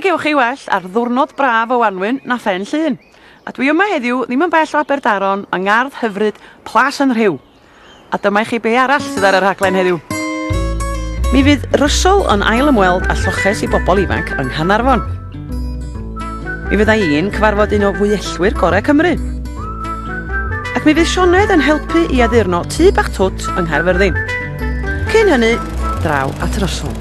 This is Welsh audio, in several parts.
gewch chi well ar ddiwrnod braf o wanwyn na Phen Llŷn. A dwi yma heddiw ddim yn bell o Aberdaron yng ngardd hyfryd Plas yn Rhiw. A dyma i chi be arall sydd ar y rhaglen heddiw. Mi fydd Russell yn ail ymweld â lloches i bobl ifanc yng Nghanarfon. Mi fydda i'n cyfarfod un o fwyellwyr gorau Cymru. Ac mi fydd Sioned yn helpu i addurno tŷ bach twt yng Nghaerfyrddin. Cyn hynny, draw at Russell.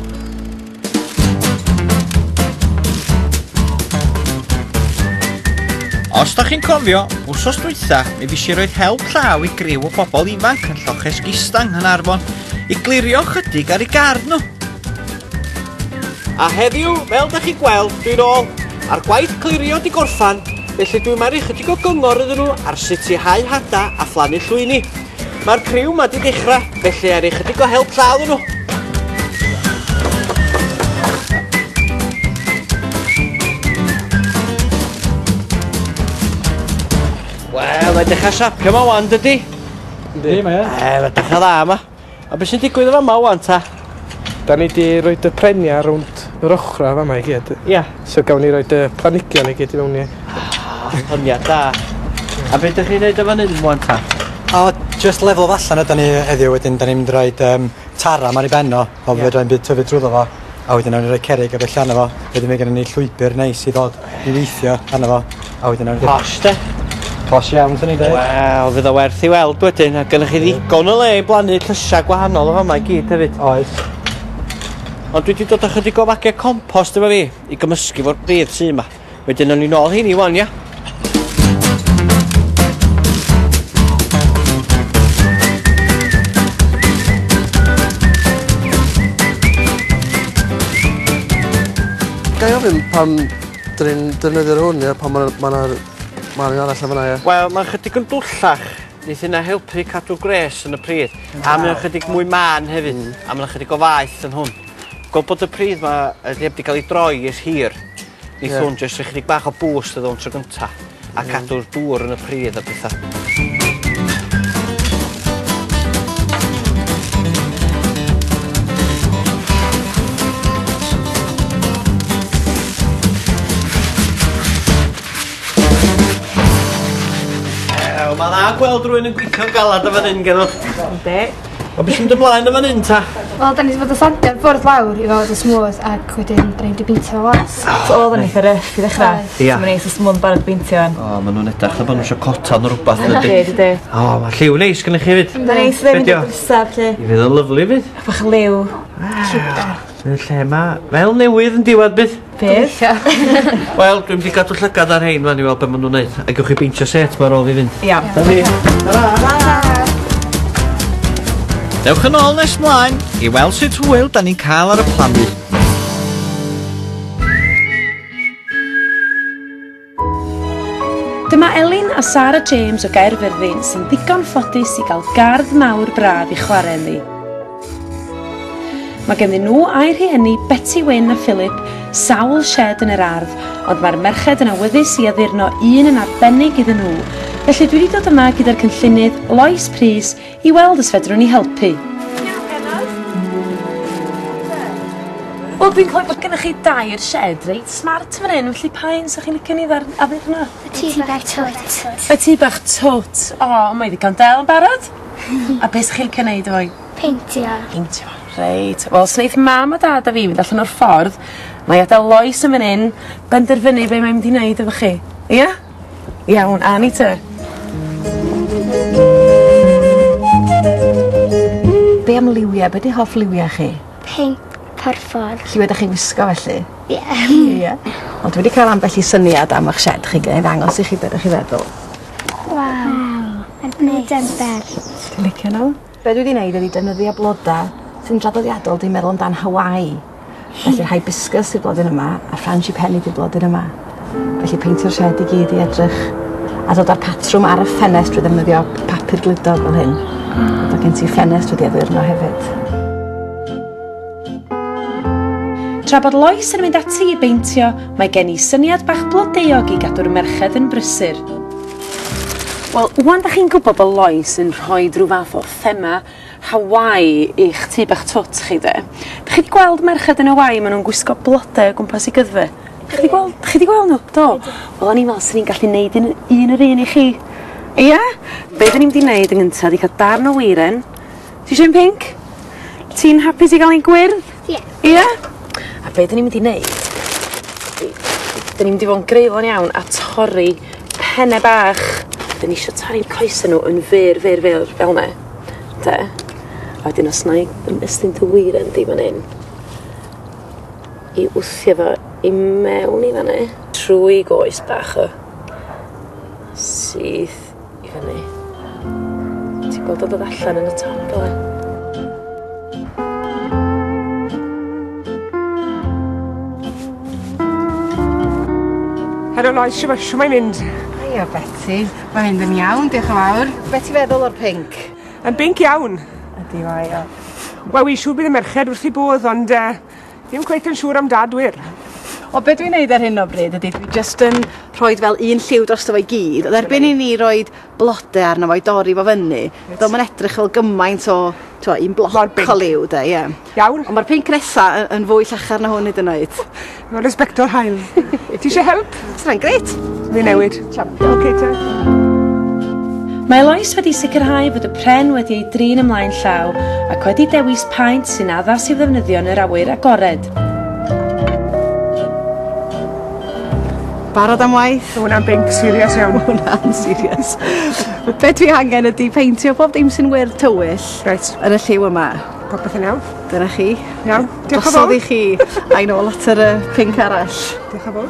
Os da chi'n cofio, wsos dwytha, mi fues i roed help llaw i griw o bobl ifanc yn Lloches Gista yng Nghaernarfon i glirio chydig ar eu gardd nhw. A heddiw, fel da chi'n gweld, dwi'n ôl a'r gwaith clirio di gorffan, felly dwi'n maru chydig o gyngor iddyn nhw ar sut i hau hada a phlannu llwyni. Mae'r criw ma di dechrau, felly er i chydig o help llaw iddyn nhw. Wel, mae'n dechrau siapio ma wan, dydy? Yndi, mae e. E, mae'n dechrau dda yma. A beth sy'n digwydd yn fama wan, ta? Da ni di roed y prenia rownd yr ochra fama i gyd. Ia. So gawn ni roed y planigion i gyd i mewn i. Syniad da. A beth ydych chi'n neud yn fan hyn wan, ta? O, just lefel allan ydan ni heddiw, wedyn da ni'n mynd i roid taram ar ei ben o, fel yeah. Fedra i'm byd tyfu drwyddo fo, a wedyn nawn ni roi cerrig a bellu arno fo, wedyn mae gennym ni llwybr neis i ddod i weithio arno fo, a wedyn nawn ni... Posh, de? Posh iawn, swn i'n dweud. Wel, fydd o werth i weld wedyn, a gynnoch chi ddigon o le i blannu llysiau gwahanol o fama i gyd hefyd. Oes. Ond dwi wedi dod â chydig o fagiau compost efo fi, i gymysgu fo'r pridd sy yma. Wedyn nawn ni nôl heini wan, ia? Ga i ofyn pam dyn ni'n defnyddio'r hwn ia, pan ma' 'na ma' 'na ma' un arall yn fan'na ia? Wel, mae'n chydig yn dwllach. Neith hynna helpu cadw gwres yn y pridd. A mae o'n chydig mwy mân hefyd. A ma' 'na chydig o faeth yn hwn. Gweld bod y pridd 'ma yy heb 'di cael ei droi ers hir. Neith hwn jyst rhoi chydig bach o boost iddo fo'n tro gynta. A cadw'r dŵr yn y pridd a petha. Ew, mae'n dda gweld rhywun yn gweithio'n galad yn fan hyn, genno. Yndi. O, beth sy'n mynd ymlaen yn fan hyn, ta? Wel, da ni wedi bod yn sandio'r bwrdd lawr i fod yn smooth ac wedyn da ni wedi beintio fo las. So oedd o'n eitha ryff i ddechrau. Oedd. Ia. So mae'n neis o smooth yn barod beintio wan. O, maen nhw'n edrych fel bod nhw eisiau cotan neu rhywbeth, dydy? Yndi, dydy. O, mae lliw neis gennych chi hefyd. Mae'n neis ddim Be' 'di mynd o? i'r drysau, felly. I fydd o'n lyfli fydd. Bach o liw. Y lle ma, fel newydd yn diwedd bydd. Bydd. Wel, dwi'n mynd i gadw llygad ar hein fan i weld be maen nhw'n neud. A gewch chi beintio set ma ar ôl fi fynd. Iawn. Da ni. Ta-ra! Dewch yn ôl nes mlaen i weld sut hwyl da ni'n cael ar y plannu. Dyma Elin a Sarah James o Gaerfyrddin sy'n ddigon ffodus i gael gardd mawr braf i chwarae ynddi. Mae ganddyn nhw a'i rhieni Betty Wyn a Philip sawl shed yn yr ardd, ond mae'r merched yn awyddus i addurno un yn arbennig iddyn nhw, felly dwi wedi dod yma gyda'r cynllunydd Lois Prys i weld os fedrwn ni helpu. Wel, dwi'n clywed bod gennych chi dair shed reit smart fan hyn, felly pa un 'sa chi'n licio ni addurno? Y tŷ bach twt. Y tŷ bach twt. O, mae ddigon del yn barod. A beth 'sach chi'n licio neud efo hi? Peintio. Peintio. Reit. Wel, os wneith mam a dad a fi fynd allan o'r ffordd, na i adael Lois yn fan hyn, benderfynu be mae'n mynd i wneud efo chi. Ia? Iawn, a ni te. Be am liwiau? Be 'di hoff liwiau chi? Pinc, porffor. Lliwiau ydych chi'n wisgo felly? Ie. Ie. Ond dwi wedi cael ambell i syniad am eich shed chi, ga i ddangos i chi be ydych chi feddwl. Waw. Mae'n gwneud yn bell. Ti'n licio nhw? Be dwi wedi wneud ydi defnyddio bloda sy'n draddodiadol dwi'n meddwl amdan Hawaii. Felly'r hibiscus yw'r blodyn yma a frangipani 'di'r blodyn yma. Felly peintio'r shed i gyd i edrych a dod â'r patrwm ar y ffenest drwy ddefnyddio papur gludog fel hyn. Mae gen ti ffenest wedi addurno hefyd. Tra bod Lois yn mynd ati i beintio, mae gen i syniad bach blodeuog i gadw'r merched yn brysur. Wel, wan da chi'n gwybod bod Lois yn rhoi rhyw fath o thema Hawaii i'ch tŷ bach twt chi de. Da chi wedi gweld merched yn Hawaii, maen nhw'n gwisgo blodau o gwmpas i gyddfe? Chi 'di gweld chi 'di gweld nhw? Do. Wel o'n i'n me'wl swn i'n gallu neud un un yr un i chi. Ia? Be' 'dan ni'n mynd i neud yn gynta 'di ca'l darn o weiren. Ti isio un pinc? Ti'n hapus i ga'l un gwyrdd? Ie. Ia? A be' 'dan ni'n mynd i neud 'di 'dan ni'n mynd i fo' yn greulon iawn a torri penne bach. 'Dan ni isio torri'n coese n'w yn fyr fyr fyr fel 'ne. 'De? A wedyn os 'nai ymestyn dy weiren di fan 'yn i wthio fo i mewn i fan 'ne. Trwy goes bach o. Syth i fyny. Ti'n gweld o'n dod allan yn y top fel 'a? Helo Lois, shwma- shwmai mynd? Hiya Beti, mae'n mynd yn iawn, diolch yn fawr. Be' ti feddwl o'r pinc? Yn binc iawn. Ydi mae o. Wel wi'n siŵr bydd y merched wrth 'u bodd ond yy ddim cweit yn siŵr am dad wir. O be' dwi'n neud ar hyn o bryd ydi dwi jyst yn rhoid fel un lliw drosto fo i gyd ond erbyn i ni roid blode arno fo i dorri fo fyny 'di o'm yn edrych fel gymaint o t'wo' un bloc o liw 'de ie. Iawn. On' ma'r pinc nesa y- yn fwy llachar na hwn hyd yn oed. Fel y sbectol haul. Ti isie help? Sa wnna'n grêt. Fi newid. Champion. Oce te. Mae Lois wedi sicrhau fod y pren wedi ei drin ymlaen llaw ac wedi dewis paent sy'n addas i'w ddefnyddio yn yr awyr agored. Barod am waith? Ma' wnna'n binc serious iawn. Ma' hwnna'n serious. Be' dwi angen ydi peintio pob dim sy'n wyrdd tywyll. Reit. Yn y lliw yma. Popeth yn iawn. Dyna chi. Iawn. Diolch yn fowr. Drosodd i chi. Ai nôl at yr yy pinc arall. Diolch yn fowr.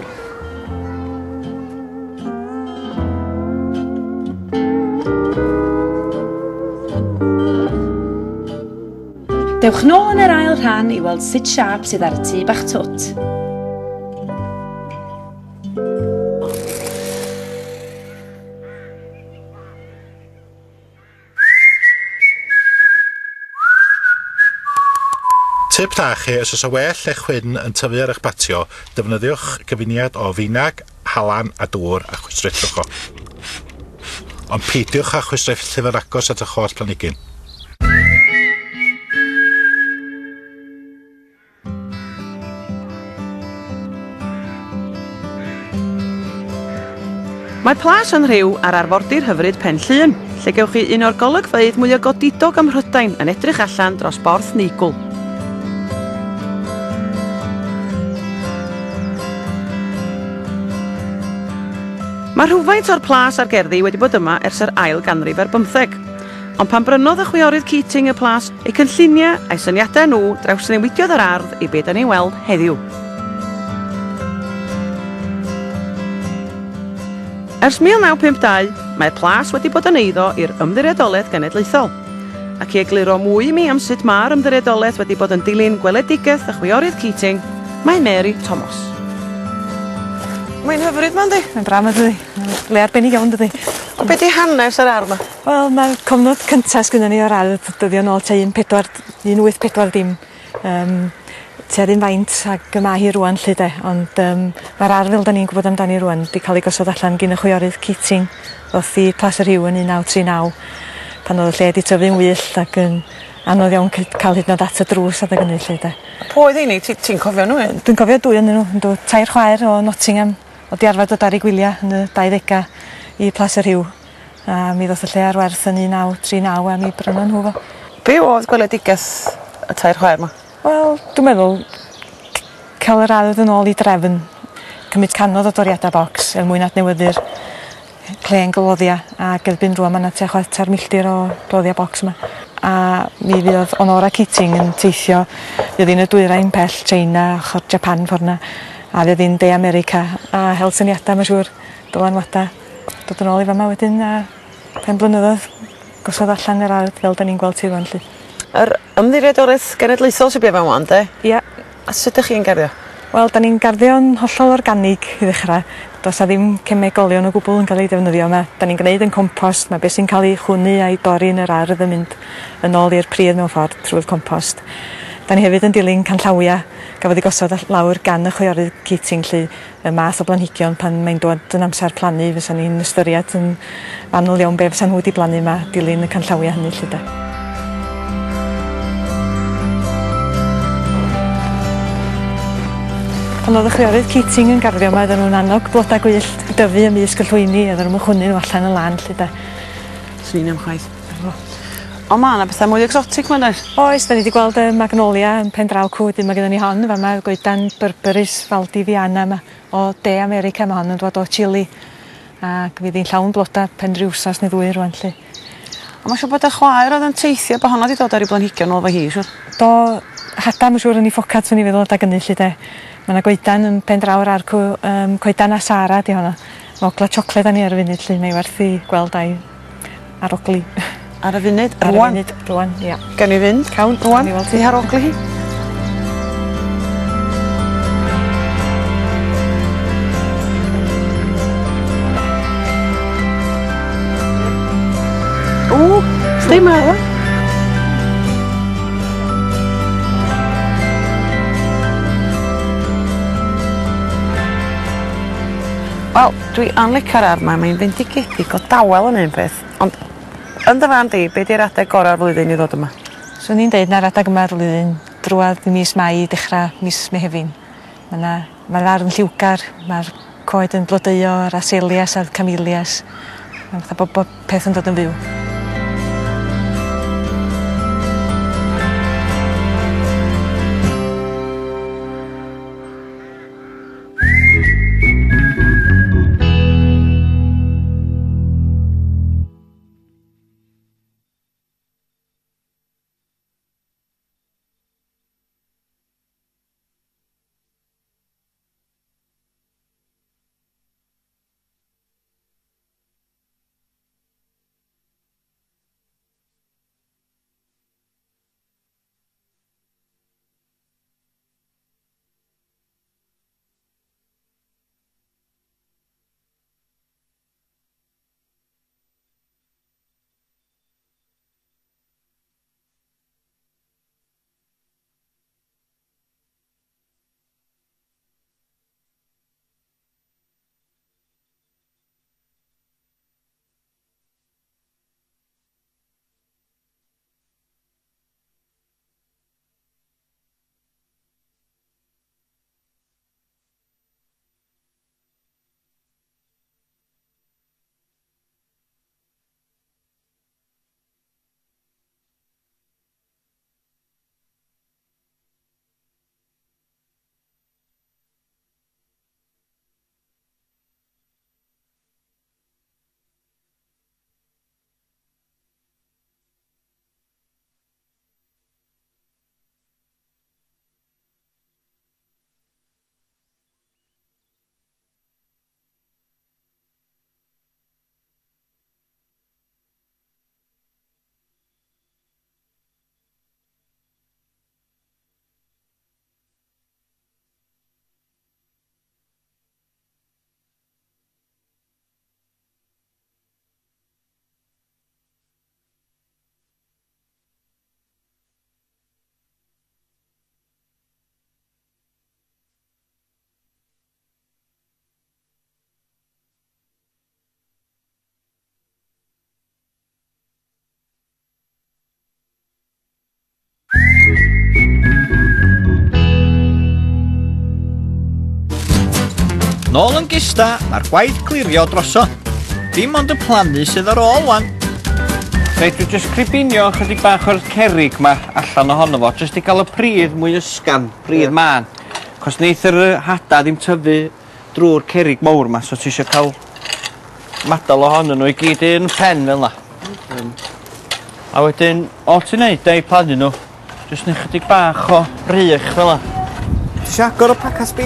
Dewch nôl yn yr ail rhan i weld sut siâp sydd ar y tŷ bach twt. Tip da chi, os oes 'na well neu chwyn yn tyfu ar eich patio, defnyddiwch gyfuniad o finag, halan a dŵr a chwistrellwch o. Ond peidiwch â chwistrellu fo'n agos at eich holl planhigyn. Mae Plas yn Rhiw ar arfordir hyfryd Pen Llŷn, lle gewch chi un o'r golygfeydd mwyaf godidog ym Mhrydain yn edrych allan dros Borth Neigwl. Mae rhywfaint o'r plas a'r gerddi wedi bod yma ers yr ail ganrif ar bymtheg. Ond pan brynodd y chwiorydd Keating y plas, eu cynlluniau a'u syniadau nhw drawsnewidiodd yr ardd i be da ni'n weld heddiw. Ers 1952, mae'r plas wedi bod yn eiddo i'r Ymddiriedolaeth Genedlaethol. Ac i egluro mwy i mi am sut mae'r Ymddiriedolaeth wedi bod yn dilyn gweledigaeth y chwiorydd Keating, mae Mary Thomas. Mae'n hyfryd 'ma yndi? Mae'n braf 'ma dydi? Mae'n le arbennig iawn dydi? Ond be' 'di hanes yr ardd 'ma? Wel ma'r cofnod cynta sgynnon ni o'r ardd dyddio nôl tua un pedwar un wyth pedwar dim. Yym tua'r un faint ag y ma' hi rŵan 'lly 'de ond yym ma'r ardd fel 'dan ni'n gwbod amdani rŵan 'di ca'l ei gosod allan gin y chwiorydd Keating ddoth i Plas y Rhiw yn 1939 pan o'dd y lle 'di tyfu'n wyllt ac yn anodd iawn ca'l hyd yn o'd at y drws adeg ynny 'lly 'de. Pwy oedd heini? Ti ti'n cofio nhw un? Dwi'n cofio dwy o'nyn nhw yndw tair chwaer o Nottingham o'dd 'di arfer dod ar 'u gwylia yn y dau ddega i Plas y Rhiw a mi ddoth y lle ar werth yn 1939 a mi brynon nhw fo. Be' o'dd gweledigeth y tair chwaer 'ma? Wel dwi'n meddwl ca'l yr ardd yn ôl i drefn. Cymryd canodd o doriada bocs er mwyn adnewyddu'r clên gloddia ag erbyn rŵan ma' 'na tua chwarter milltir o gloddia bocs yma. A mi fuodd Honora Keating yn teithio fuodd 'i'n y dwyrain pell China ochor Japan ffor 'na a fuodd 'i'n De America a hel syniada ma' siŵr dylanwada dod yn ôl i fama wedyn a pen blynyddodd gosod allan yr ardd fel 'dan ni'n gweld hi rŵan 'lly. Yr Ymddiriedolaeth Genedlaethol sy bia fan 'wan 'de? Ia. A sut 'dych chi'n garddio? Wel 'dan ni'n garddio'n hollol organig i ddechra. Do's 'a ddim cemegolion o gwbwl yn ca'l eu defnyddio yma. 'Dan ni'n gneud 'yn compost ma' be' sy'n ca'l 'i chwynnu a'i dorri yn yr ardd yn mynd yn ôl i'r pridd mewn ffordd trwy'r compost. 'Dan ni hefyd yn dilyn canllawia gafodd 'u gosod all- lawr gan y chwiorydd Keating 'lly y math o blanhigion pan mae'n dod yn amsar plannu fysan ni'n ystyried yn fanwl iawn be' fysa nhw 'di blannu 'ma dilyn y canllawia hynny 'lly 'de. Pan oedd y chwiorydd Keating yn garddio yma, oedden nhw'n annog bloda gwyllt i dyfu ymysg y llwyni, oedden nhw'n chwynnu nhw allan y lan 'lly de. Swn i'n chwaith. Ond ma' 'na betha mwy exotic 'ma does? Oes, 'dan ni 'di gweld y magnolia yn pen draw cw, wedyn ma' gynnon ni hon yn fa' 'ma, goedan Berberis valdiviana 'ma o De America, ma' hon yn dwad o Chile ac fydd 'i'n llawn bloda pen ryw wsos neu ddwy rŵan 'lly. Ond ma' siŵr bod y chwaer oedd yn teithio bo' honno 'di dod ar 'i blanhigion nôl efo hi siŵr. Do, hada ma' siŵr yn 'i phocad swn i'n feddwl adag 'ynny 'lly 'de. Ma' 'na goedan yn pen draw yr ardd cw yym coedan Asara 'di honno. Ma' ogla siocled arni ar y funud 'lly mae werth 'i gweld a'i arogli. Ar y funud, rŵan? Ar y funud, rŵan, ia. Gawn ni fynd? Cawn. Rŵan? I harogli hi? Ww, sdi ma. Wel, dwi yn licio'r ardd 'ma, mae'n fendigedig o dawel yn un peth, ond yn dy farn di, be' 'di'r adeg gora'r flwyddyn i ddod yma? Swn i'n deud na'r adag yma'r flwyddyn, drwadd i mis Mai dechra mis Mehefin. Ma' 'na ma'r ardd yn lliwgar, ma'r coed yn blodeuo, yr azaleas a'r camellias. Ma'n fatha bo' bob peth yn dod yn fyw. Nôl yn gista, mae'r gwaith clirio drosodd. Dim ond y plannu sydd ar ôl wan. Reit, dwi jyst cribinio chydig bach o'r cerrig 'ma allan ohono fo, jyst i gael y pridd mwy ysgafn, pridd mân. Cos neith yr hada ddim tyfu drwy'r cerrig mawr 'ma, so ti isio cael madal ohonyn nhw i gyd un pen fel 'na. A wedyn, all ti'n neud, de, i plannu nhw, jyst neu chydig bach o rych fel 'na. Ti isio agor y paca sbeinia?